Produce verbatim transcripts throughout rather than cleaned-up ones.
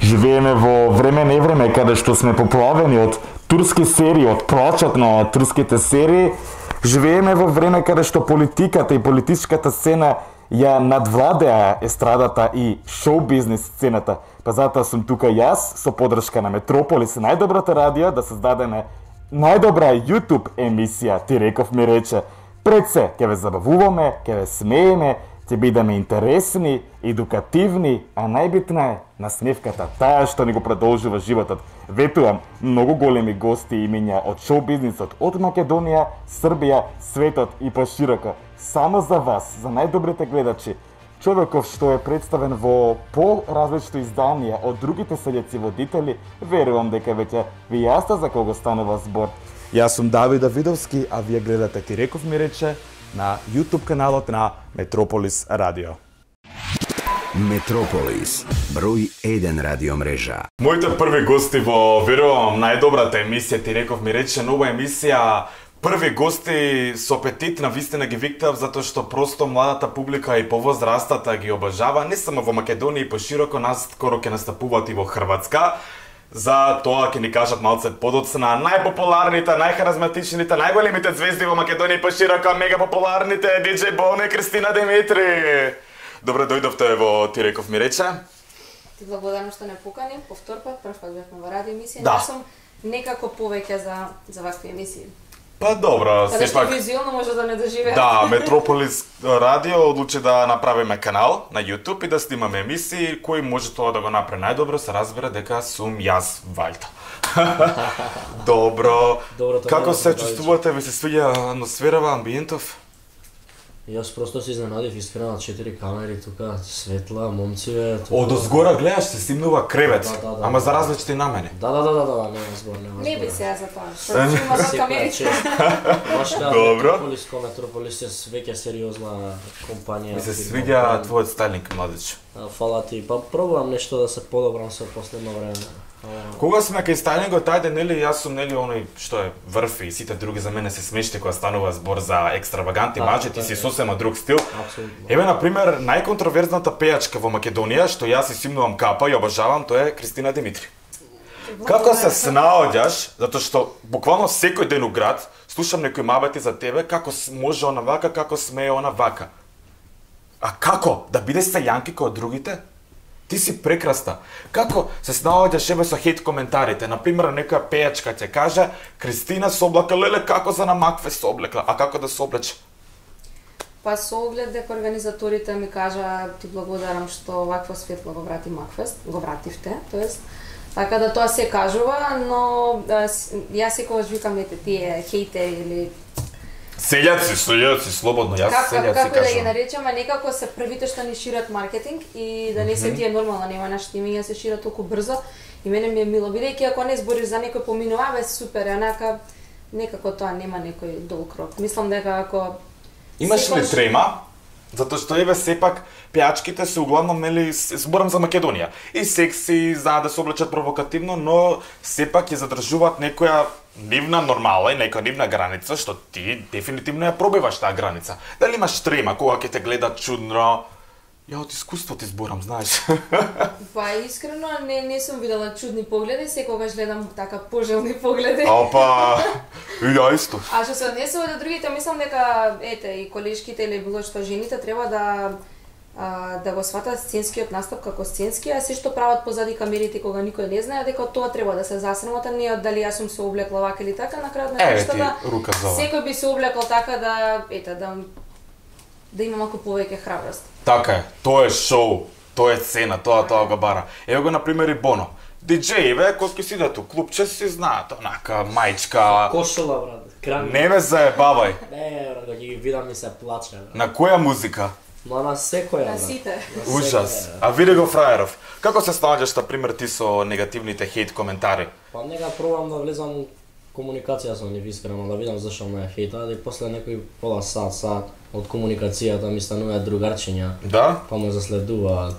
Живееме во време невреме каде што сме поплавени од турски серии, од плачот на турските серии. Живееме во време каде што политиката и политичката сцена ја надвладеа естрадата и шоу-бизнес сцената. Па затоа сум тука јас со поддршка на Метрополис, најдобрата радио, да создадеме најдобра YouTube емисија, Ти реков ми рече. Пред се, ќе ве забавуваме, ќе ве смееме, ќе бидеме интересни, едукативни, а најбитна е насмевката, таа што ни го продолжува животот. Ветувам, многу големи гости и имиња од шоу-бизнисот, од Македонија, Србија, светот и пошироко. Само за вас, за најдобрите гледачи, човеков што е представен во по-различни изданија од другите селјаци водители, верувам дека веќе ви јасно за кого станува збор. Јас сум Давид Давидовски, а вие гледате Ти реков ми рече на YouTube каналот на Метрополис Радио. Метрополис, број еден радио мрежа. Моите први гости во, верувам, најдобрата емисија Ти реков ми рече, нова емисија. Први гости со апетит на вистина ги виктав затоа што просто младата публика и повозрастата ги обожава, не само во Македонија и пошироко, наскоро ќе настапуваат и во Хрватска. За тоа ќе ни кажат малце подоцна најпопуларните, најхаrizматичните, најголемите звезди во Македонија и пошироко, мега популарните диџеј Боно и Кристина Димитри. Добре дојдовте во Ти реков ми рече. Ти благодарам што не покани, повтор пат, прв пат бевме во радио емисија, да. Не сум некако повеќе за за вакви емисии. Па добро, каде сепак. Каде што визуелно може да не доживеат. Да, Метрополис Радио одлучи да направиме канал на YouTube и да снимаме емисии, кој може тоа да го направи најдобро, се разбира дека сум јас Вајта. Добро. Добро, како се чувствувате? Ви се свиѓа атмосферава, амбиентов? Јас просто се изненадив, искрено, на четири камери тука, светла, момциве. Тука... Од озгора гледаш, се снимнува кревет, да, да, да, ама да, за различни намени. Да, да, да, да, да, нема збор, нема збор. Не би сега за тоа, што има за камерите. Баш кај Метрополис, ко Метрополис е веќе сериозна компанија. Ми се свиѓа твојот стайлинг, младич. Фала ти, па пробувам нешто да се подобрам со последно време. Кога сме кај стайлингот, ајде, нели, јас сум, нели, оној што е врв и сите други за мене се смешни кога станува збор за екстравагантни мажи, ти си сосема друг стил. Еве, например, најконтроверзната пејачка во Македонија, што јас и симнувам капа и обожавам, тоа е Кристина Димитри. Како се снаоѓаш, затоа што буквално секој ден у град слушам некои мабети за тебе, како може она вака, како смее она вака. А како? Да бидеш сајанки како другите? Ти си прекрасна. Како се снаоѓаш еве со хейт коментарите? Например, некоја пејачка ќе каже Кристина се облека, леле како за на Макфе се облекла, а како да се облече? Па со оглед дека организаторите ми кажа ти благодарам што вакво светло го врати Макфест, го вративте, тоест така да тоа се кажува, но јас секогаш викам ете тие хейтери или Селјаци, селјаци, слободно, јас как, селјаци како кажам. да ги наречеме, некако се првите што ни шират маркетинг и да не се тие нормално, нема нашите имиња се шират толку брзо и мене ми е мило, бидејќи ако не збориш за некој поминува, бе супер, онака некако тоа нема некој долг рок. Мислам дека ако Имаш ли секојаш... трема? Затоа што еве сепак пејачките се углавном, нели, зборам за Македонија. И секси, за да се облечат провокативно, но сепак ја задржуваат некоја нивна нормала и некоја нивна граница, што ти дефинитивно ја пробиваш таа граница. Дали имаш трема кога ќе те гледат чудно? Ја од искуство ти зборам, знаеш. Па искрено не не сум видела чудни погледи, секогаш гледам така пожелни погледи. Опа. И ја исто. А што се однесува до другите, мислам дека ете и колешките или било што жените треба да а, да го сватат сценскиот настап како сценски, а се што прават позади камерите кога никој не знае, дека тоа треба да се засрамота, не од дали јас сум се облекла вака или така, на крајот на краиштата. рука за ова. Секој би се облекол така да ете да да има малку повеќе храброст. Така е, тоа е шоу, тоа е цена, тоа тоа го бара. Ево го например и Боно. Диџејеве кои ќе сидат у клубче си знаат, онака мајчка. Кошула, брат, крами. Не ме заебавај. Не, брат, кога ги видам ми се плаче, брат. На која музика? Но на секоја, На брат. сите. Ужас. А види го фраеров. Како се снаоѓаш, на пример, ти со негативните хейт коментари? Па нека пробам да влезам комуникација со нив искрено, да видам зашо ме хейтаат и после некој пола сат, сат од комуникацијата ми стануваат другарчиња. Да? Па ме заследуваат.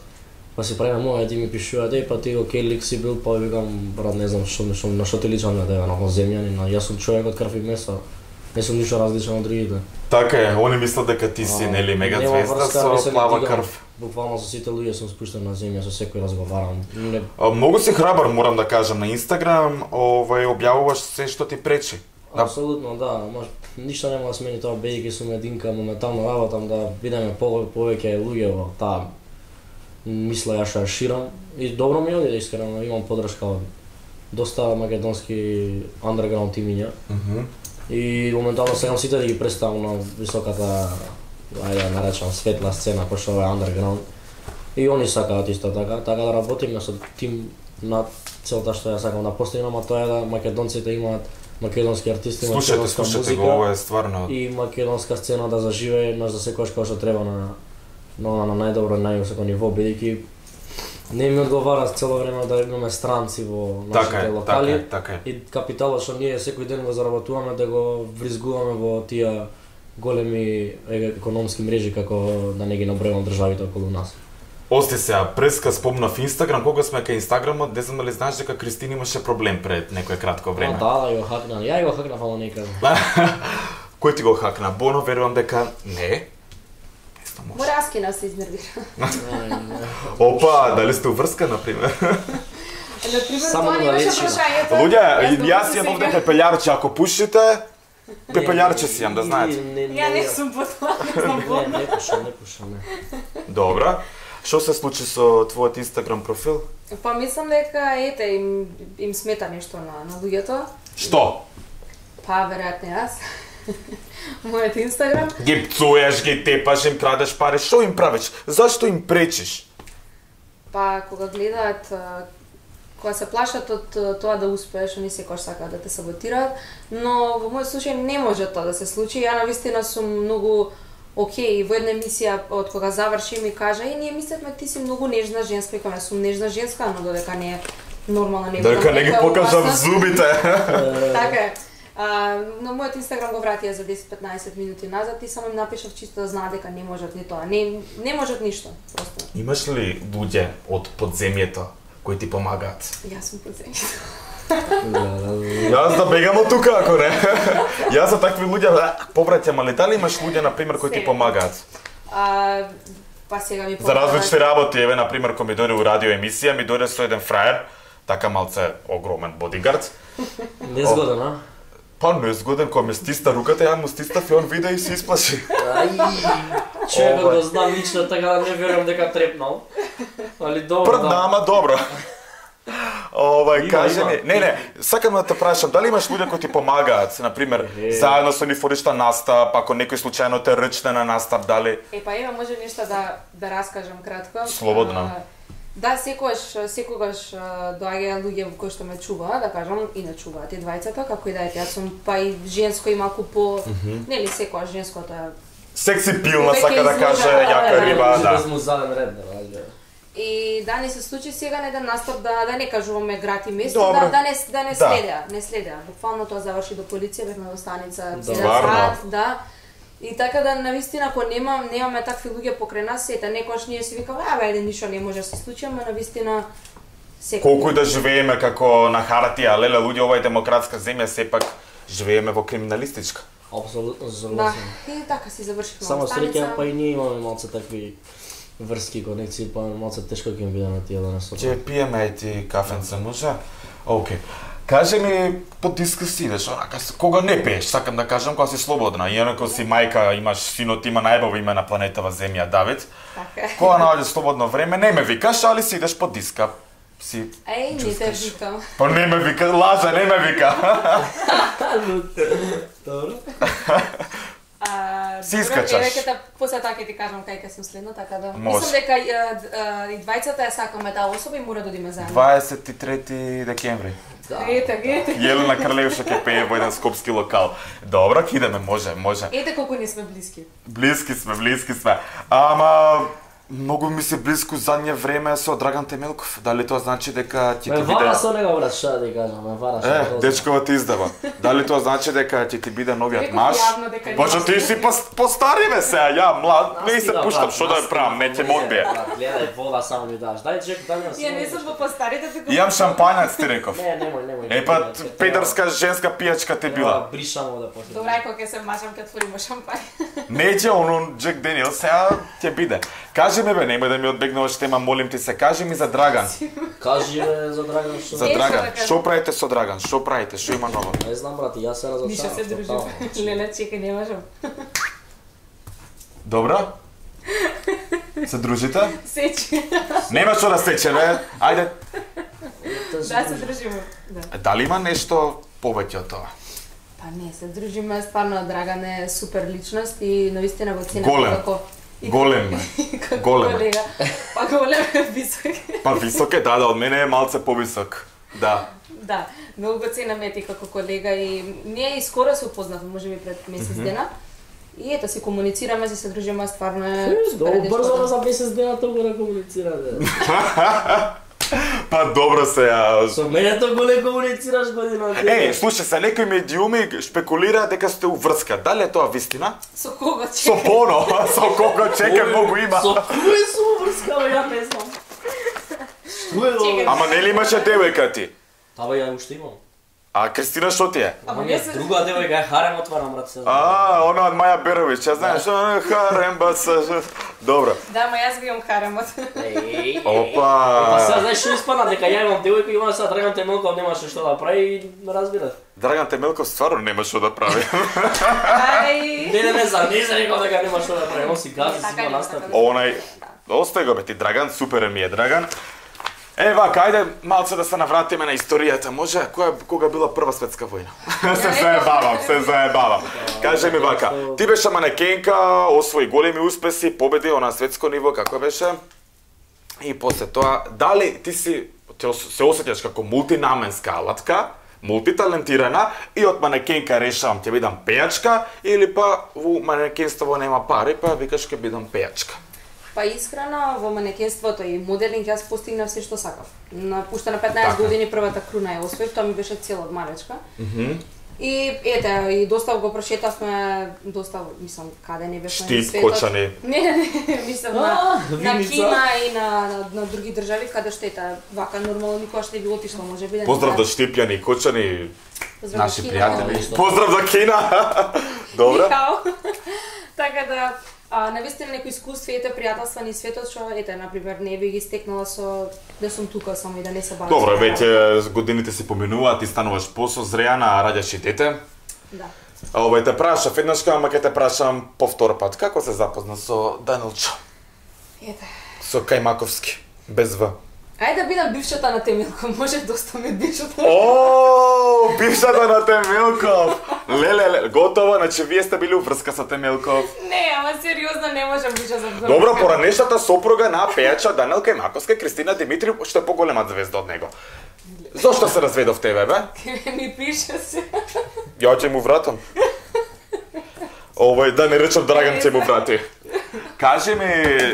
Па си правиме моја, ти ми пишуваат, еј, па ти окей лик си бил, па викам, брат, не знам што, што на што ти личам на тебе, на земјанин, јас сум човек од крв и месо. Не сум ништо различен од другите. Така е, они мислат дека ти си, нели, мега звезда со плава крв. Буквално со сите луѓе сум спуштен на земја, со секој разговарам. Не... А, многу си храбар, морам да кажам, на Инстаграм, овај објавуваш се што ти пречи. Апсолутно, да, може ништо нема да смени тоа, бидејќи сум единка, моментално работам да бидеме по повеќе луѓе во таа мисла ја што ја ширам и добро ми оди, искрено, имам подршка од доста македонски underground тимиња. Mm -hmm. И моментално сакам сите да ги представам на високата, ајде да наречам, светла сцена, кој што е underground. И они сакаат исто така, така да работиме со тим на целта што ја сакам да постигнам, а тоа е да македонците имаат македонски артисти, слушате, македонска слушате музика го, ова е стварно и македонска сцена да заживее на за секојаш како што треба на на, на најдобро, највисоко ниво, бидејќи не ми одговара цело време да имаме странци во нашите така е, локали така е, така е. и капиталот што ние секој ден го заработуваме да го вризгуваме во тие големи економски мрежи како да не ги набројувам државите околу нас. Ости сега, преска спомнав Инстаграм, кога сме кај Инстаграмот, не знам дали знаеш дека Кристина имаше проблем пред некое кратко време. А, да, да, го хакна. Ја го хакнав, ама не кажам. Кој ти го хакна? Боно, верувам дека не. Мораскина се изнервира. Опа, дали сте уврска, например? Например, Само тоа на не беше речима. прашањето. Луѓе, јас си јам овде пепелјарче, ако пушите, пепелјарче си јам, да знаете. Ја не сум потоа, не знам Не, болно. не пушам, не пушам, не. Добра. Што се случи со твојот Инстаграм профил? Па мислам дека ете им им смета нешто на на луѓето. Што? Па веројатно јас. Мојот Инстаграм. Ги пцуеш, ги тепаш, им крадеш пари, што им правиш? Зашто им пречиш? Па кога гледаат, а, кога се плашат од а, тоа да успееш, они секогаш сакаат да те саботираат, но во мојот случај не може тоа да се случи. Ја навистина сум многу окей, во една емисија од кога заврши ми кажа: "Е, ние мислевме ти си многу нежна женска", и кажам: "Сум нежна женска, но додека не е нормална не Дека не ги покажам зубите. Така е. А, на мојот Инстаграм го вратија за десет до петнаесет минути назад и само им напишав чисто да знаат дека не можат ни тоа. Не не можат ништо, просто. Имаш ли луѓе од подземјето кои ти помагаат? Јас сум подземјето. Јас да бегам од тука, ако не. Јас за такви луѓе повраќам, али дали имаш луѓе, например, кои ти помагаат? А, па сега ми За различни работи, еве, например, кога ми дојде у радио емисија, ми дојде со еден фраер, така малце огромен бодигард. Незгоден, а? Па незгоден, кога ме стисна руката, ја му стиснав и он виде и се исплаши. Ај, човекот го знам лично, така да не верувам дека трепнал. Али добро, Пред да. нама, добро. Овај, Има, кажи има. ми, не, не, сакам да те прашам, дали имаш луѓе кои ти помагаат, например, заедно со нифоришта настап, ако некој случајно те рчне на настап, дали? Е, па има може нешто да да раскажам кратко. Слободно. А, да, секогаш секогаш а, доаѓаат луѓе кои што ме чуваат, да кажам, и не чуваат и двајцата, како и да е, јас сум па и женско и малку по, нели секогаш женското е. Секси пилна, Веќе сака да изложа, каже, да, јака да, риба, Без да. му заден ред, да раѓа. И да не се случи сега на еден настап да да не кажуваме град и место, Добро. да да не да не Да. следеа, не следеа. Буквално тоа заврши до полиција, бевме во станица цел Стварно? сат, да. И така да навистина ако немам немаме такви луѓе покрај нас, ете некош ние си викаме, абе ајде ништо не може да се случи, ама навистина секој. Колку и да живееме како на хартија, леле, луѓе, ова е демократска земја, сепак живееме во криминалистичка. Апсолутно Да, согласен. и така си завршивме Само во станица. среќа, па и ние имаме малце такви врски конекции, па малце тешко ќе им видиме тие да не со. Ќе пиеме и ти кафенце, може? Океј. Кажи ми, по дискус идеш, онака, кога не пееш, сакам да кажам, кога си слободна. Иако си мајка, имаш синот, има најбаво име на планетава Земја, Давид. Така е. Кога наоѓаш слободно време, не ме викаш, али си идеш по диска. Си Еј, не те чувстваш. викам. Па не ме вика, лажа, не ме вика. Добро. А, Си добро, искачаш. Еве ќе те после така ќе ти кажам кај ќе сум следно, така да. Може. Мислам дека а, а, и двајцата ја сакаме таа особа и мора да одиме заедно. дваесет и трети декември. Да. Ете, ете. Јелена Кралевша ќе пее во еден скопски локал. Добро, ќе идеме, може, може. Ете колку не сме блиски. Блиски сме, блиски сме. Ама Многу ми се близко задње време со Драган Темелков. Дали тоа значи дека ќе ти Ме биде... вара со него, брат, што да ти кажам, ме вара со Е, него. дечкова ти издава. Дали тоа значи дека ќе ти биде новиот Реков маж? јавно дека Пошто нема ти си пос- постари бе сега, ја млад, не се Настига, пуштам, брат, што да ја настига, правам, не ќе ме одбие. брат, Гледај, вода само ми даш. Дај чек, Даниел. Ја не сум по старите така. Имам шампањац, ти реков. Не, немој, немој. Е па, педерска женска пијачка те била. Бришамо да почнеме. Добра, кога ќе се мажам ќе отвориме шампање. Неќе оно Джек Денил, сега ќе биде. Кажи ми бе, немој да ми одбегнуваш тема, молим ти се, кажи ми за Драган. Кажи бе за Драган што. За Е, Драган, што да што правите со Драган? Што правите? Што има ново? Не знам, брат, јас се разочарав. Ништо се дружим. Леле, чекај, не можам. Добро? Се дружите? Сечи. Нема што да сече, бе. Ајде. Да, се дружиме. Да. Дали има нешто повеќе од тоа? Па не, се дружиме, стварно Драган е супер личност и наистина го ценам Голем. како и Голем е. како Голем. колега. Па голем е висок. Па висок е, да, да, од мене е малце повисок. Да. Да, многу го ценам ети како колега и ние и скоро се упознавме, можеби пред месец дена. И ето си комуницираме, си се дружиме, стварно е супер Долу брзо дечко. за месец дена толку да комуницирате. Па добро се, ја... Со мене толку не комуницираш година. Е, слушај се, некои медиуми шпекулираат дека сте уврска. Дали е тоа вистина? Со кого Со чекај? Боно, со кого чека многу има. Со кој су врска, бе, ја не знам. Што е Чекај. ова? Ама нели имаше девојка ти? Та бе, ја уште имам. А Кристина што ти е? Ама Ама не не, се... друга девојка е харем отварам, брат, се знам. А, она од Маја Беровиќ, ја знаеш, она харем баса. Добро. Да, ама јас го имам харемот. Еј, Опа. Па сега знаеш што испадна, дека ја имам девојка и има сега Драган Темелков немаше што да прави и ме разбираш. Драган Темелков стварно нема што да прави. Ај. Не, не, не, за не се рекол дека нема што да прави, он си гази, си Така има нема, настап. така Онај, остај го бе ти Драган, супер ми е Драган. Е, вака, ајде малце да се навратиме на историјата, може? Која, кога била прва светска војна? се заебавам, се заебавам. Кажи ми вака, ти беше манекенка, освои големи успеси, победи на светско ниво, како беше? И после тоа, дали ти си ти ос- се осеќаш како мултинаменска алатка, мултиталентирана и од манекенка решавам ќе бидам пејачка или па во манекенството нема пари, па викаш ќе бидам пејачка. Па искрено во манекенството и моделинг јас постигнав се што сакав. На пушта на петнаесет Така. години првата круна ја освоив, тоа ми беше цел од малечка. И ете, и доста го прошетавме, доста, мислам, каде не беше Штип, Кочани. Не, не, не, мислам А, на, на Виница. Кина и на, на, на други држави каде што ете, вака нормално никогаш не би отишло, може би да не Поздрав до знаеш. Штипјани и Кочани, Поздрав до наши Кина. пријатели. Поздрав до Кина. Добро. Нихао. Така да, а, навистина некои искуства, ете, пријателства ни светот, што, ете, например, не би ги стекнала со да сум тука само и да не се бавам. Добро, со веќе годините си поминуваат, ти стануваш посозреана, раѓаш и дете. Да. А овој те прашав еднаш, ама ќе те прашам повтор пат. Како се запозна со Данилчо? Ете. Со Кајмаковски, без В. Ајде да бидам бившата на Темелко, може доста ми бившата. О, бившата на Темелков. Леле, леле, готово, значи вие сте били уврска со Темелков. Не, ама сериозно не можам бивша за Добро, поранешната сопруга на пејача Данил Кајмаковска, Кристина Димитрив, што е поголема звезда од него. Зошто се разведов тебе, бе? ми пише се. Ја ќе му вратам. Овој, да не речам Драган ќе му врати. Кажи ми...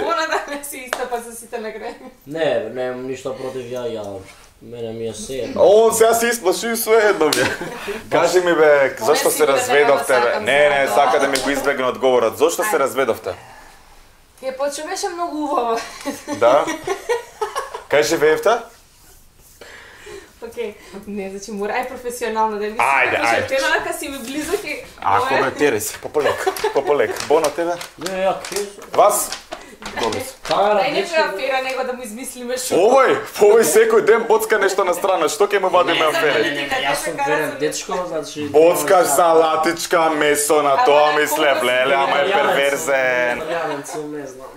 Она да ме си истапа за сите на крај. Не, немам ништо против ја, ја мене ми е се. Он сега се исплаши и све едно ми. Кажи ми бе, зошто се сигурно разведовте дека го бе? сакам Не, не, сега. сака да ми го избегне одговорот. Зошто се разведовте? Е, почу беше многу убава. Да? Кај живеевте? Океј, не, значи мора ај професионално да ми Ајде, ајде. Тена рака си ми близо ке. Ако бе, тери си, пополек, пополек. Боно тебе? Не, ја кеш. Вас? Добре. Камера, Дај дечко. некоја афера него да му измислиме шо. Овој, овој секој ден боцка нешто на страна, што ќе му вадиме Не, афери? Не, не, не, јас сум верен дечко, значи... Боцкаш салатичка, месо на тоа мислев, леле, ама е перверзен. Италијанец сум, не знам.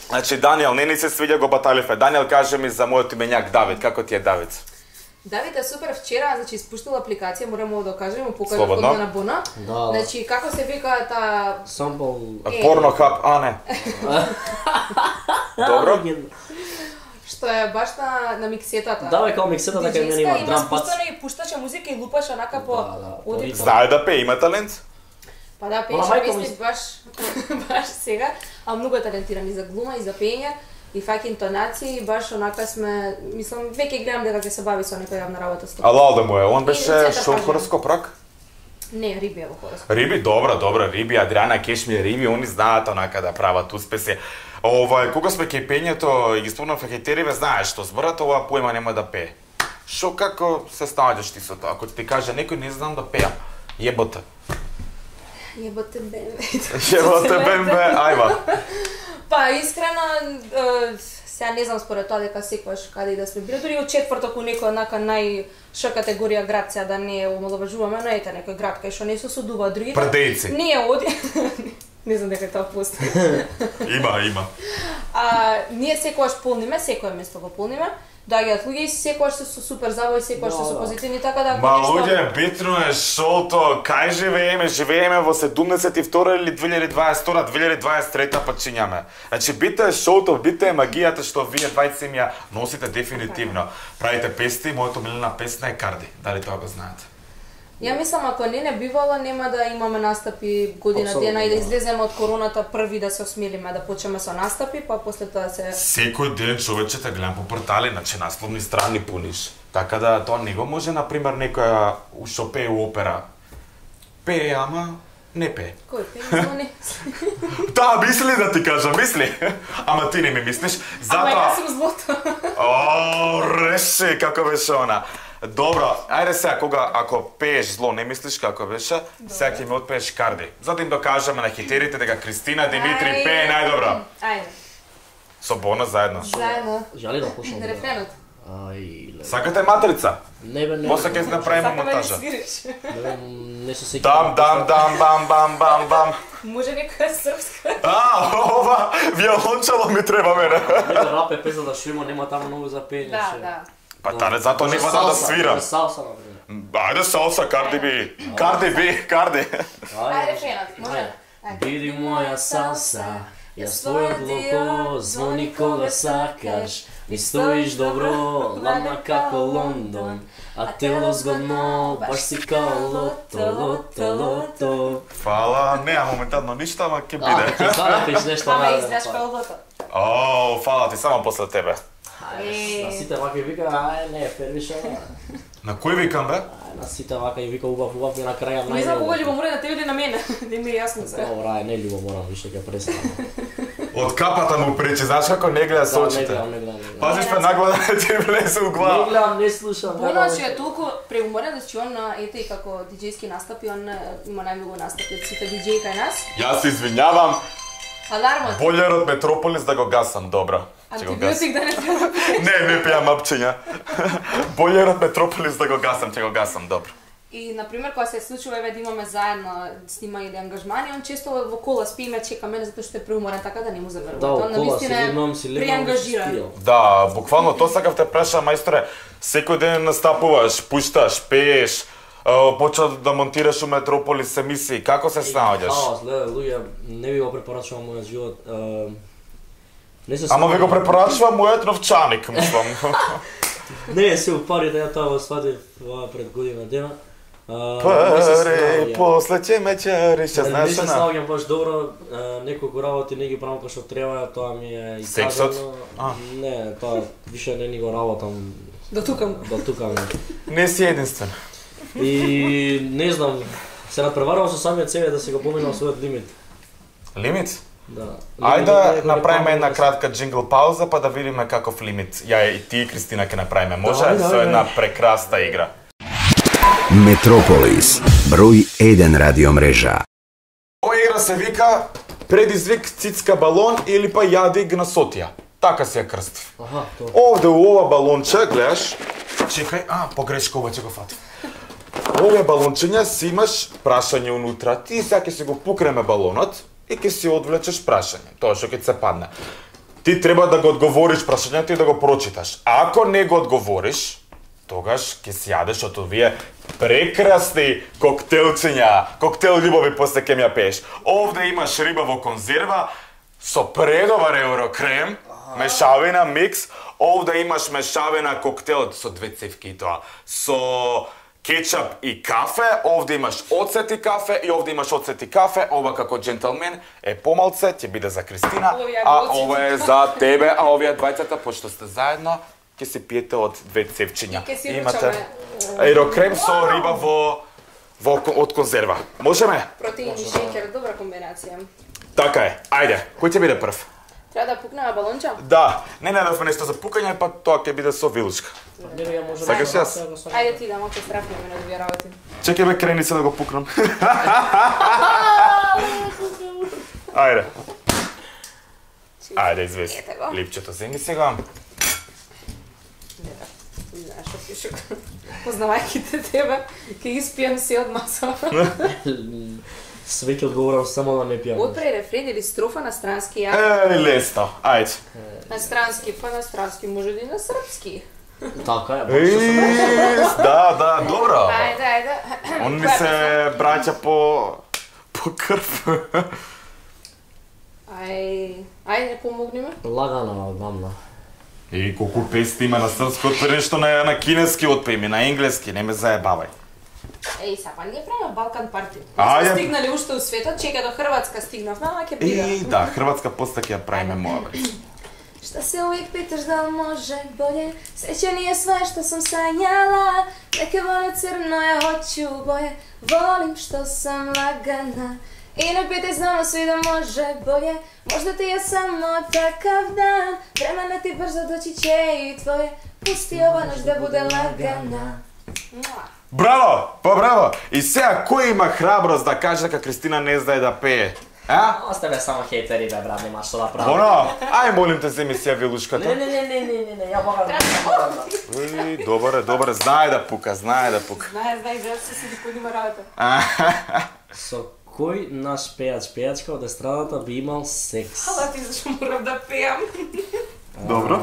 Значи, Даниел, не ни се свиѓа го баталифе. Даниел, кажи ми за мојот именјак Давид, како ти е Давид? Давид е супер, вчера, значи испуштила апликација, морамо да кажеме, му покажа Слободно. код на Бона. Да, да. Значи како се вика та Сампл... Е. Порнохаб, а не. Добро. што е баш на на миксетата. Да, бе, као миксета, така и мене има Диџејска, драм пац. спустено и пушташе музика и лупаше онака по Да, да, оди- ритам. Знае да пее, има талент? Па да, Она Пејче мајка Вести ми- баш, баш сега, а многу е талентиран и за глума, и за пење, и фаќа интонации, и баш онака сме, мислам, веќе гледам дека ќе се бави со некоја јавна работа. сто А Лалда му е, он И беше центар шо пажар. хороскоп рак? Не, Риби е во хороскоп. Риби, добра, добра, Риби, Адриана Кешмир, Риби, они знаат онака да прават успеси. Ова, кога сме кај пењето и ги спомнав хејтериве, знаеш што зборат, ова појма нема да пее. Шо како се снаоѓаш ти со тоа? Ако ти каже некој не знам да пеам, јеботе. Јеботе бембе. Јеботе бембе, ајва. Па, искрено, е, сега не знам според тоа дека секогаш каде и да сме били, дури од четврток у некој однака нај ш категорија град, сега да не омаловажуваме, но ете некој град кај што не се судува другите. Предејци. Ние оди. Не знам дека тоа постои. Има, има. А, ние секогаш полниме, секое место го полниме. Доаѓаат луѓе и секогаш се со супер забава и секогаш се Да, со да. позитивни, така да ако Ма нешто... луѓе, битно е шоуто, кај живееме? Живееме во седумдесет и втора или две илјади дваесет и втора, две илјади дваесет и трета почињаме. Значи, бите е шоуто, бите е магијата што вие двајци ми ја носите дефинитивно. Правите песни, моето милена песна е Карди. Дали тоа го знаете? Ја мислам, ако не не бивало, нема да имаме настапи година Апсолутно, дена и да да. излеземе од короната први да се осмелиме, да почнеме со настапи, па после тоа се... Секој ден човече те гледам по портали, значи насловни страни пуниш. Така да тоа не го може, например, некоја што пее у опера. Пее, ама не пее. Кој пензони? Таа мисли да ти кажа, мисли. Ама ти не ми мислиш. Ама Затоа... јас сум злото. О, реши како беше она. Добро, ајде сега, кога ако пееш зло, не мислиш како беше, сега ќе ми отпееш Карди. За да им докажеме на хитерите дека Кристина Димитри Ајде. пее најдобро. Ајде, Со Бона заедно. заедно. Жали да пушам. бе. Рефренот. Ај, ле. Сакате матрица? Не бе, не. После бе. ќе направиме Сакаме да монтажа. свириш. Не бе, не се сеќавам. Дам, дам, дам, бам, бам, бам, бам. Може некоја српска? А, ова, виолончело ми треба мене. Нека рапе песна да шума, нема таму многу за пење. Да, ше. да. Па таре, затоа не водам да свирам. Салса, например. Ајде салса, Карди би. Карди би, Карди. Ајде, рефренот, може? Ајде. Биди моја салса, јас твојот локо, звони кога сакаш. Ми стоиш добро, ладна како Лондон, а тело згодно, баш си као лото, лото, лото. Фала, неа моментално ништо, ама ќе А, биде. ќе фанатиш нешто Ама најде, издраж па. пелбото. О, фала ти, само после тебе. Ајде, на сите вака и вика, ај, не, фервиша, На кој викам, бе? ај, на сите вака и вика убав, убав, и на краја Не знам кога најдобро. љубомора на тебе или на мене. Не ми е јасно сега. Добра, ај, не љубо морам, више ќе престанам. Од капата му пречи, знаеш како не гледа со Да, не очите. гледам, не гледам, не гледам. Пазиш ме наглада да ти влезе у Не глава. гледам, не слушам. Боно гледам. че е толку преуморен, значи он на ете и како диџејски настапи, он е, има најмногу настапи од сите диџеи кај нас. Јас се извинјавам, Алармот. болер од Метрополис да го гасам, добро. Ќе го гасам. Антибиотик да не треба. Не, не пијам апчиња. Болер од Метрополис да го гасам, ќе го гасам, добро. И на пример кога се случува еве да имаме заедно снима или ангажмани, он често во кола спи и ме чека мене затоа што е преуморен, така да не му заверува. Да, Он во кола си навистина е легнам, си легнам, преангажиран. спијам. Да, буквално тоа сакав те праша, мајсторе. Секој ден настапуваш, пушташ, пееш, а, почна да монтираш у Метрополис емисии. Како се снаоѓаш? Хаос, гледа, луѓе, не ви го препорачувам мојот живот. е, Не се Ама ви го снаоѓам. препорачувам мојот новчаник, мислам. Не, се упарите, ја тоа го сватив ова пред година дена. А, не се Паре, снаоѓам. после ќе ме чариш, ќе Не знаеш се она. снаоѓам баш добро, а, неколку работи не ги правам како што треба, тоа ми е и Сексот? кажано. А. Не, тоа више не ни го работам До тукам. до тука. Не си единствен. И не знам, се надпреварувам со самиот себе да се го поминам својот лимит. Лимит? Да. Ајде Лимит да е направиме некој една памет, кратка джингл пауза па да видиме каков лимит. Ја и ти и Кристина ќе направиме. Може Давај, со давај, една давај. прекрасна игра. Метрополис, број еден радиомрежа. Ова игра се вика предизвик цицка балон или па јади гнасотија. Така се ја крстив. Аха, тоа. Овде у ова балонче, гледаш, чекај, а, погрешка обаче го фатив. Овие балончиња си имаш прашање унутра. Ти сега ќе си го пукреме балонот и ќе си одвлечеш прашање, тоа што ќе ти се падне. Ти треба да го одговориш прашањето и да го прочиташ. Ако не го одговориш, тогаш ќе си јадеш од овие прекрасни коктелчиња, коктел љубови после ќе ми ја пееш. Овде имаш риба во конзерва со предобар еврокрем, мешавина микс. Овде имаш мешавина коктел со две цевки и тоа, со кетчап и кафе, овде имаш оцет и кафе и овде имаш оцет и кафе, ова како джентълмен е помалце, ќе биде за Кристина, а ова е за тебе, а овие двајцата, пошто сте заедно, ќе се пиете од две цевчиња. Имате аерокрем со риба во во од конзерва. Можеме? Протеин и шеќер, добра комбинација. Така е. Ајде, кој ќе биде прв? Треба да пукнеме балонча? Да, не најдовме нешто за пукање, па тоа ќе биде со вилучка. Сакаш јас? Ајде ти да малку страфнеме на овие работи. Чекај бе, крени се да го пукнам. Ајде. Ајде, извеси. Липчето земи сега. Знаеш што пише. Познавајќи те тебе, ќе испијам се од маса. Све ќе одговорам само да не пијам. Отпре рефрен или строфа на странски ја? Е, лесно. Ајде. На странски, па на странски, може и на српски. Така е, Е, да, да, добро. Ајде, ајде. Он ми се браќа по по крв. Ај, ајде помогни ме. Лагана, гамна. И колку песни има на српски, отпе нешто на, на кинески отпе ми, на енглески, не ме заебавај. Еј, са, па ние правиме Балкан парти. Ајде. Сме стигнали уште у светот, чека до Хрватска стигнавме, ама ќе биде. И да, Хрватска после ќе ја правиме моја бе. Šta se uvijek pitaš da li može bolje, sreća nije sve što sam sanjala, neke vole crno, ja hoću boje, volim što sam lagana. I ne pitaj, znamo svi da može bolje, možda ti je samo takav dan, vremena ti brzo doći će i tvoje, pusti ova noć da bude lagana. Браво, па браво. И сега кој има храброст да каже дека Кристина не знае да пее? А? Оставе само хейтери, бе, брат, нема што да правам. Боно, ај молим те земи си ја вилушката. Не, не, не, не, не, не, не, ја богам. Уи, добре, добре, знае да пука, знае да пука. Знае, знае, знае, се седи кој има работа. Со кој наш пејач, пејачка од естрадата би имал секс? Ала ти зашо морам да пеам. Добро.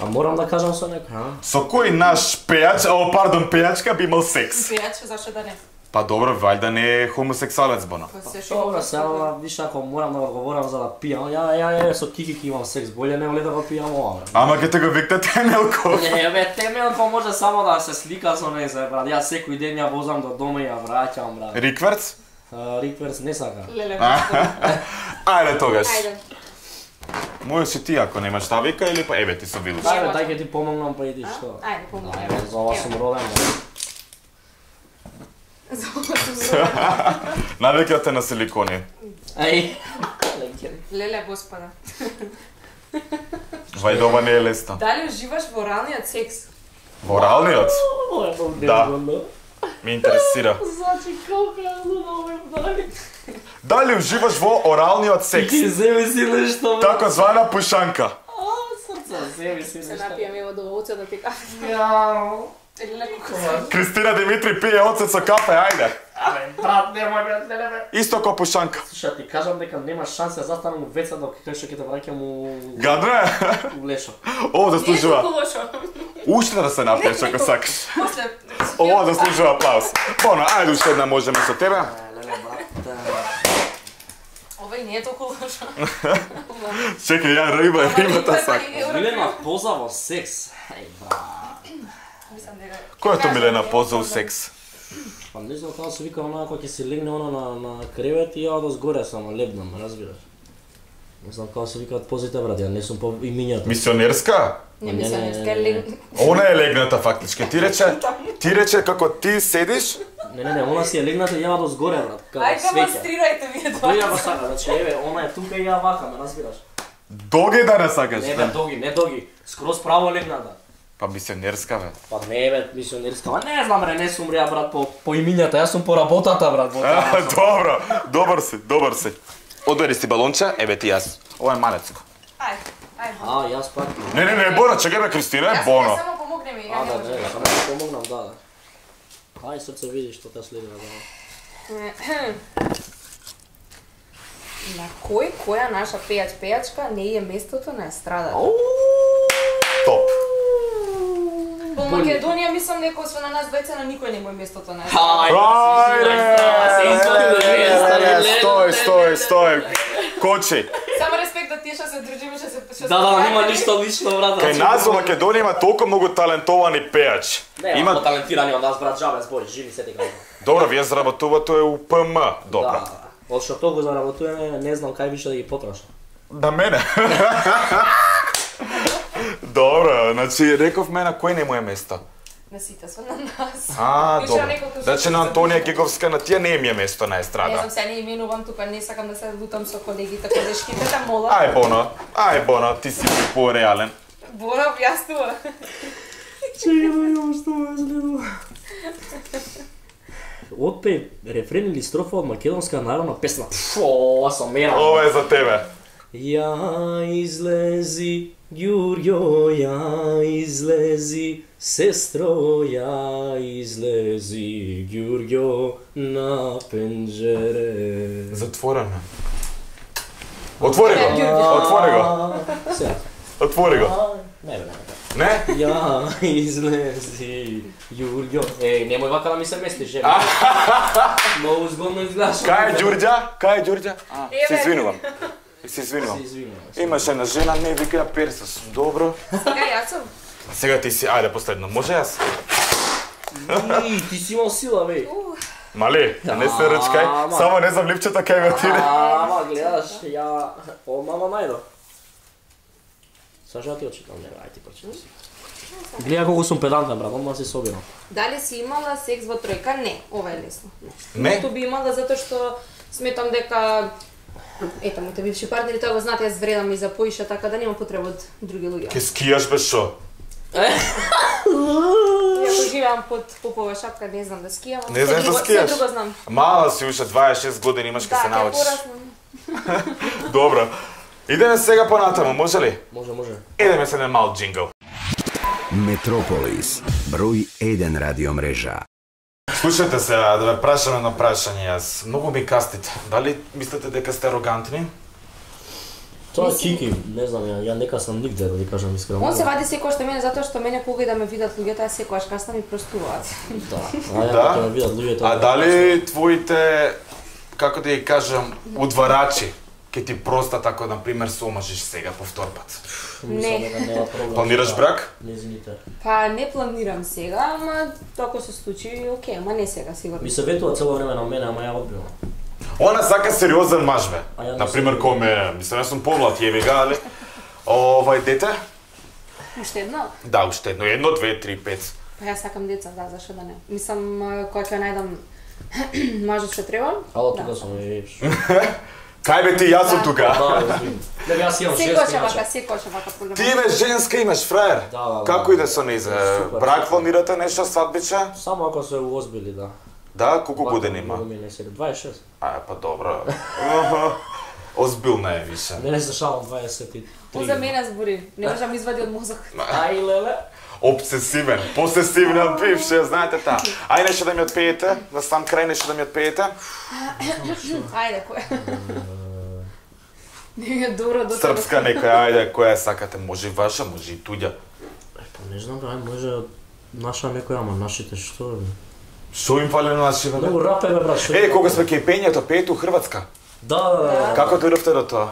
А морам да кажам со некој, а? Со кој наш пејач, о, пардон, пејачка би имал секс? Пејач, зашо да не? Па добро, вајда не е хомосексуалец, Боно. Па се шо Добро, сега, виш, ако морам да одговорам за да пијам, ја, ја, ја, со Кики ќе имам секс, боле не ли да го пијам ова, бе? Ама ќе те го викнат Темелко. Не, бе, Темелко може само да се слика со незе, брат. Јас секој ден ја возам до дома и ја враќам, брат. Рикверц? Рикверс не сака. Леле, Ајде тогаш. ајде. Мој си ти ако немаш та вика или па еве ти со вилуш. Дај, бе, дај ќе ти помогнам, па иди што. Ајде, помогни. Ајде, за ова сум роден, бе. За ова сум роден. Навикате на силикони. Ај. Леле, господа. Вајда ова не е лесно. Дали уживаш во оралниот секс? Во оралниот? Да. Да. Ме интересира. Значи, колко е лудо, бе, Дали уживаш во оралниот секс? Ти земи си нешто, бе. Така звана пушанка. А, срца, земи си Се нешто. напијам ево до оцет да ти кажам. Јау. Леле, колко Кристина Димитри пие оцет со кафе, ајде. Абе, брат, немој, брат, не, не, бе. Исто ко пушанка. Слушай, ти кажам дека нема шанса да застанам у веца док кај што ќе те враќам у Гадно е? у лешо. О, не е заслужува. толку лошо. Уште да се напиеш ако сакаш. После. Ова заслужува аплауз. Боно, ајде уште една можеме со тебе. Леле, брат. Овој не е толку лошо. Чекај, ја риба, рибата сак. Милена поза во секс. Ај, брат. Мислам дека Кој е тоа Милена поза у секс? Па не знам како се вика онаа кога ќе се легне она на на кревет и ја од згоре само лебнам, разбираш? Не знам како се викаат позите, брат, ја не сум по имињата. Мисионерска? не Не, мислам не, дека не, е не. лег. Она е легната фактички. Ти рече, ти рече како ти седиш, Не, не, не, она си е легната и ја од згоре, брат, како Ајде свеќа. демонстрирајте вие тоа. Тој ја го сака, значи еве, она е тука и ја вака, ме разбираш? доги да не сакаш. Не бе, доги, не доги, скроз право легната. Па мисионерска бе. Па не бе, мисионерска, ма не знам бре, не сум ја брат по по имињата, јас сум по работата брат. Во А, тоа. добро, добар си, добар си. Одбери си балонче, еве ти јас. Ова е малецко. Ајде, ајде. А, јас пак. Не, не, не, Боно, чекај бе, Кристина, е Јас Боно. само помогне ми, ја А, не да, можам. не, само да помогнам, да, да. Ај, срце видиш што те следува, да. На кој која наша пејач пејачка не е местото на естрадата? Топ. Во Македонија мислам дека освен на нас двајца на никој не му е местото на Ај, естрадата. Ајде! Стој, стој, стој. Кочи. Само респект ето тие што се дружиме, што се што Да, да, нема ништо лично, брат. Кај нас во Македонија има толку многу талентовани пејачи. Не, има талентирани од нас, брат, жабе збори, живи се дека. Добро, вие заработувате у П М, добро. Да, од што толку заработуваме, не знам кај више да ги потрошам. На мене. Добро, значи рековме на кој не му е место. На сите сме на нас. А, Више добро. неколку Значи на што- Антонија Геговска на тие не им е место на Не естрада. знам, се не именувам тука, не сакам да се лутам со колегите, колешките, да мола. Ај Боно, ај Боно, ти си по-реален. Бора објаснува. Чекај да видам што ме следува. Отпе рефрен или строфа од македонска народна песна. Фу, ова сум мера. Ова е за тебе. Ја излези, Ѓурѓо, ја излези, сестро, ја излези, Ѓурѓо, на пенџере. Затворено. Отвори го. Отвори го. Сега. Отвори го. Не, бе, не. Не? Ја излези, Ѓурѓо. Е, немој вака да ми се местиш, жена. Многу згодно изгледаш. Кај е Ѓурѓа? Кај е Ѓурѓа? А, се Еве. извинувам. Се извинувам. Се извинувам. Имаше една жена, не вика ја перса сум. Добро. Сега јас сум. Сега ти си, ајде последно. Може јас? И, ти си имал сила, бе. Мали, не се ръчкај. Ама. Само не знам липчета кај ме отиде. Ама, гледаш, ја... О, мама најдо. Саша, ти очитам, не, ај ти прочитай си. Гледа колку сум педантен, брат, одма се собирам. Дали си имала секс во тројка? Не, ова е лесно. Не? Ниту би имала затоа што сметам дека ето моите бивши партнери тоа го знаат, јас вредам и за поиша, така да нема потреба од други луѓе. Ке скијаш без шо? Иако живеам под попова шапка, не знам да скијам. ама Не знаеш се да друго- скијаш? Се друго знам. Мала си уште дваесет и шест години имаш ке Да, се ќе научиш. пораснам. Добро. Идеме сега понатаму, може ли? Може, може. Идеме се на мал джингл. Метрополис, број еден радиомрежа. Слушайте се, да ве прашам едно прашање јас. Многу ми кастите. Дали мислите дека сте арогантни? Тоа е Кики, не знам, ја, ја нека сам нигде, да ви кажам искрено. Он се вади секој што мене затоа што мене кога и да ме видат луѓето, јас секогаш каснам и простуваат. Да, а ја Да? да? ме видат луѓето. А дали твоите, како да ја кажам, удварачи ке ти простат ако, например, се омажиш сега повтор пат? Не. Нема проблем. Планираш брак? Незините. Па не планирам сега, ама ако се случи, окей, ама не сега сигурно. Ми се ветува цело време на мене, ама ја одбивам. Она сака сериозен маж, бе. А ја не Например, сум. кој ме, мислам, јас сум помлад, јеби га, али... Овај дете? Уште едно? Да, уште едно, едно, две, три, пет. Па јас сакам деца, да, зашто да не. Мислам, а, кога ќе најдам мажот што треба. Ало, да. тука сум и... Кај бе ти, јас сум Да. тука. Да, извини. Дека јас имам Секој шест ќе вака, иначе. секој ќе вака проблема. Ти имаш женска, имаш фраер. Да, да, да. Како иде со низ? Супер, Брак супер. планирате нешто, свадбиче? Само ако се уозбили, да. Да, колку години има? Многу ми не се, дваесет и шест. А, па добро. Аха. Озбилна е више. Мене се шалам дваесет и три. Он за мене збори, не можам извади од мозок. Ај, леле. Обсесивен, посесивна бивше, знаете та. Ај нешто да ми отпеете, на сам крај нешто да ми отпеете. Ајде, кој? Не е добро до Српска некоја, ајде, која сакате, може и ваша, може и туѓа. Е, па не знам, бе, може наша некоја, ама нашите што е? Што им фали на нашите? Многу рап е, бе, брат, што? Е, кога сме кај пењето, пеете у Хрватска. Да, да, да. Како дојдовте до тоа?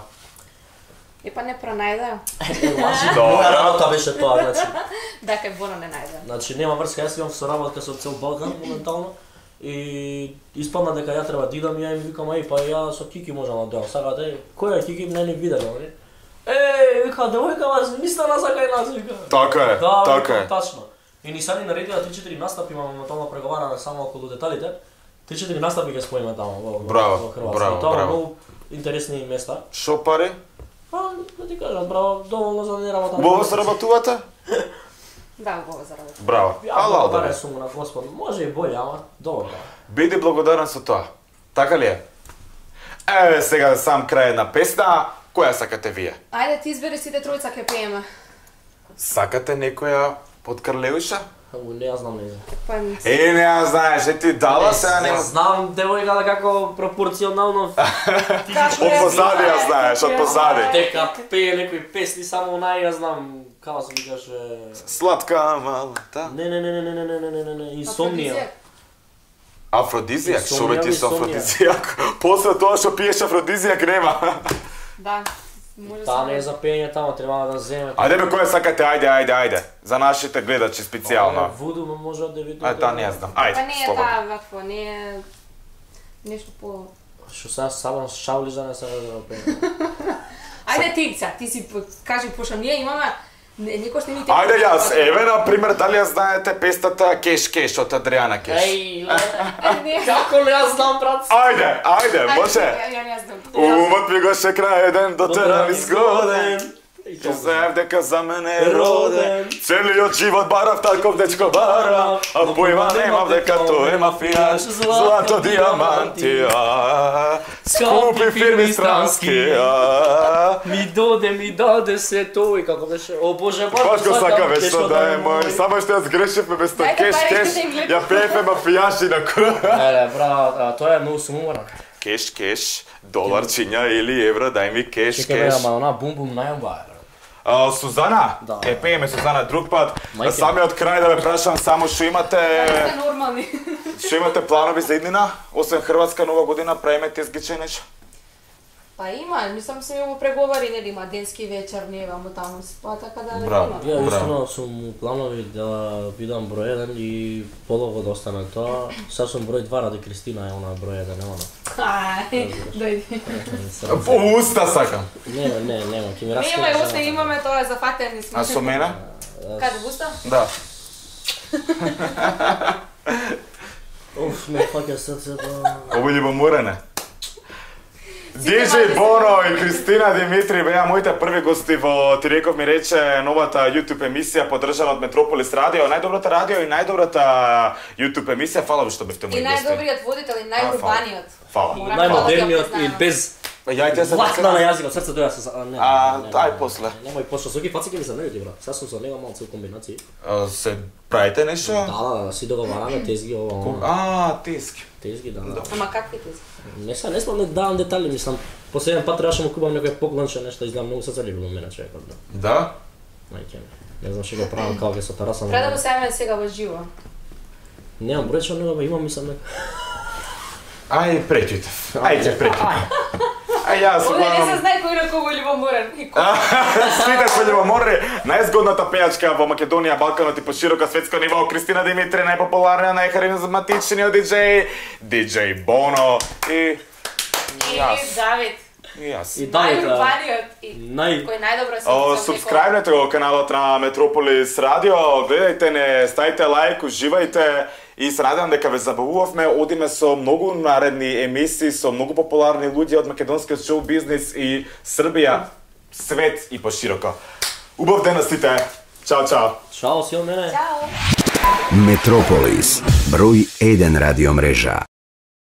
И па не пронајде. Лажи, Добро. моја работа беше тоа, значи. Да, кај Бона не најде. Значи нема врска, јас имам соработка со цел Балкан моментално и испадна дека ја треба да идам и ја им викам ај па ја со Кики можам да дојдам. Сакате, кој е Кики не ни виделе, нели? Еј, вика девојка вас мисла на сакај нас вика. Така е, Да, така викам, е. тачно. И ни са ни наредила три-четири настапи, имаме моментално преговараме само околу деталите. три-четири настапи ќе споиме таму во, Браво, во Хрватска. браво, И тоа браво. многу интересни места. Шо пари? Па, да ти кажам, браво, доволно за да не работам. Убаво се работувате? Да, убаво за работа. Браво. Ја Алал да благодарен бе. сум на Господ. Може и боле, ама доволно. Биди благодарен со тоа. Така ли е? Еве сега сам крај на песна. Која сакате вие? Ајде ти избери сите тројца ќе пееме. Сакате некоја од Карлеуша? Ау, не ја знам не знам. Па Е, не ја знаеш, е ти дала сега Не нема. знам девојка да како пропорционално Од позади ја знаеш, од позади. дека пее некои песни само нај ја знам како се викаше. Сладка малата. Не не не не не не не не не не не инсомнија. Афродизијак, шо бе ти со Инсомнија, афродизијак? После тоа што пиеш афродизијак нема. Да. Може Та не е за пење таму, треба да земе. Ајде бе, која сакате, ајде, ајде, ајде. За нашите гледачи специјално. Вуду може да видите. Ај, та не знам. Ајде, Па не е слободно. таа вакво, не е нешто по... Што сега сабам шаули за не се да пење. Ајде ти, сега, ти си по- кажи, пошто ние имаме некој што не ни те... Ајде јас, еве на пример, дали ја знаете пестата Кеш Кеш од Адриана Кеш? Еј, Не. како не ја знам, брат? Ајде, ајде, може. Ја, ја не знам. Умот ми го ше крај еден дотеран изгоден. Ќе знаев дека за мене е роден. Целиот живот барав таков дечко барав, а појма немав дека тој е мафијаш. Злато диаманти, а, скупи фирми странски, а. Ми доде, ми даде се тој, како беше, о боже, Баш го сакаве што да е мој, само што ја сгрешивме без тоа Дајте Кеш парите Кеш, да им гледам. ја пеевме мафијаши на круг. Еле, брат, а, тоа е многу суморно. Кеш Кеш, доларчиња или евро, дај ми кеш Чекай, бе, кеш. ама она бум бум најоба е. А, Сузана, Да. е пееме Сузана друг пат. Мајке. Самиот крај да ве прашам само што имате Сте нормални. што имате планови за иднина, освен Хрватска нова година, правиме тезгиче нешто. Па има, мислам се ми го преговари, нели, има денски вечер, не ваму таму, па така да Браво. има. Ја Браво. истина сум планови да бидам број еден и полого да остане тоа. Сега сум број два ради Кристина е она број еден, нема. Ај, дојди. По уста сакам. Не, не, нема, ќе ми Не раскаже. има, уште имаме тоа зафатени сме. А со мене? Каде буста? Да. Уф, ме фаќа срцето. Ово љубоморене. Диџеј Боно и Кристина Димитри беа моите први гости во Ти реков ми рече новата YouTube емисија поддржана од Метрополис Радио, најдобрата радио и најдобрата YouTube емисија. Фала ви што бевте И мои гости. најдобриот водител и најурбаниот. Фала. Морам Најмодерниот да и го без Ја и те се ватна на јазикот, срцето ја се... Не, А, не, не, ај, не, после. не, Немој после, со ги фаци ќе ми се најути, брат. Сега сум со него малку комбинации. А, се правите нешто? Да, да, да, си договараме тезги, ова, А, тески. тезги, да, да. Ама какви ти? Не са, не смам да давам детали, мислам. Последен пат требаше му купам некој поклонче, нешто, изгледам многу се залюбил мене човекот, да. Да? Мајке ми. Не знам што го правам како ќе со тераса. Треба да го сеаме сега во живо. Немам број, што него имам, мислам дека. Ај, претите. Ајде, претите. Ај, јас Овде не се гледам. знае кој на кого е љубоморен. И кој. Сите се љубоморни. Најзгодната пејачка во Македонија, Балканот и по широко светско ниво, Кристина Димитри, најпопуларниот, најхаризматичниот диџеј, диџеј Боно и И јас. Давид. И јас. И Давид, а, Најурбаниот. И нај- кој најдобро се О, субскрајбнете го каналот на Метрополис Радио, гледајте не, ставите лајк, уживајте и се надевам дека ве забавувавме, одиме со многу наредни емисии, со многу популарни луѓе од македонскиот шоу бизнис и Србија, свет и пошироко. Убав ден на сите. Чао, чао. Чао, си од мене. Чао. Метрополис, број еден радиомрежа.